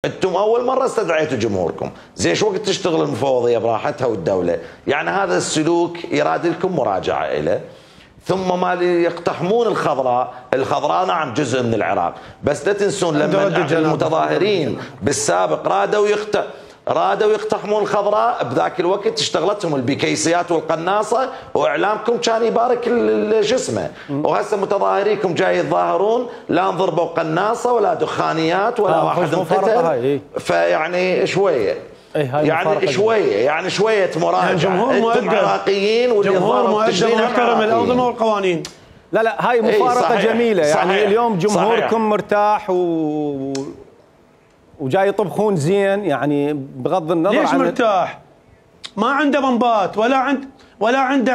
انتم اول مره استدعيتوا جمهوركم، زين شو وقت تشتغل المفوضيه براحتها والدوله؟ يعني هذا السلوك يراد لكم مراجعه له. ثم ما يقتحمون الخضراء نعم جزء من العراق، بس لا تنسون لما المتظاهرين بالسابق رادوا يقتحمون الخضراء، بذاك الوقت اشتغلتهم البكيسيات والقناصه واعلامكم كان يبارك جسمه، وهسه متظاهريكم جاي يتظاهرون لا انضربوا قناصه ولا دخانيات ولا واحد انقتل. فيعني شويه يعني شويه مراجعه. جمهور مؤدب، عراقيين جمهور مؤدب ومحترم الانظمه والقوانين. لا هاي مفارقه جميله يعني. اليوم جمهوركم مرتاح وجاي يطبخون زين، يعني بغض النظر ليش عن مرتاح؟ ما عنده بمبات ولا عنده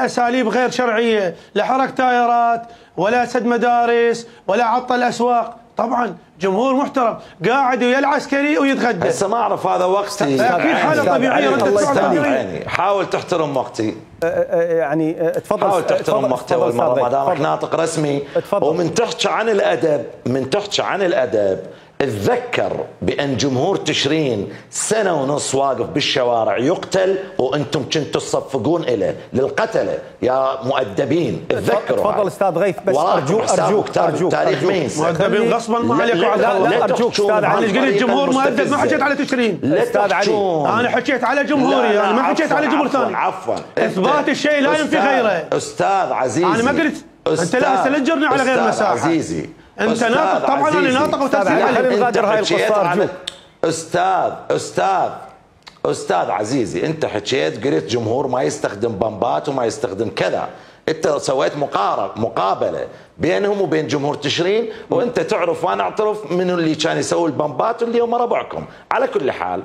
اساليب غير شرعيه، لا حرق تايرات ولا سد مدارس ولا عطل اسواق. طبعا جمهور محترم قاعد ويا العسكري ويتغدى. هسه ما اعرف هذا وقتي، اكيد حاله طبيعيه. حاول تحترم وقتي. يعني تفضل، حاول تحترم وقتي اول مره ما دامك ناطق رسمي. ومن تحكي عن الادب اتذكر بان جمهور تشرين سنه ونص واقف بالشوارع يقتل وانتم كنتوا تصفقون له للقتله يا مؤدبين. اتذكروا. تفضل استاذ غيث، بس ارجوك تاريخ مؤدبين غصبا ما عليكم. لا ارجوك استاذ علي. ايش قلت جمهور مؤدب؟ ما حكيت على تشرين استاذ علي، انا حكيت على جمهوري، انا ما حكيت على جمهور ثاني. عفوا اثبات الشيء لا ينفي غيره. استاذ عزيزي انا ما قلت انت لا تلجرني على غير مساحه. عزيزي انت ناطق، طبعا انا ناطق وتسجيل علي. نغادر هاي القصه. استاذ عزيزي، انت حكيت قلت جمهور ما يستخدم بمبات وما يستخدم كذا. انت سويت مقابله بينهم وبين جمهور تشرين، وانت تعرف وانا اعترف من اللي كان يسوي البمبات واللي هم ربعكم. على كل حال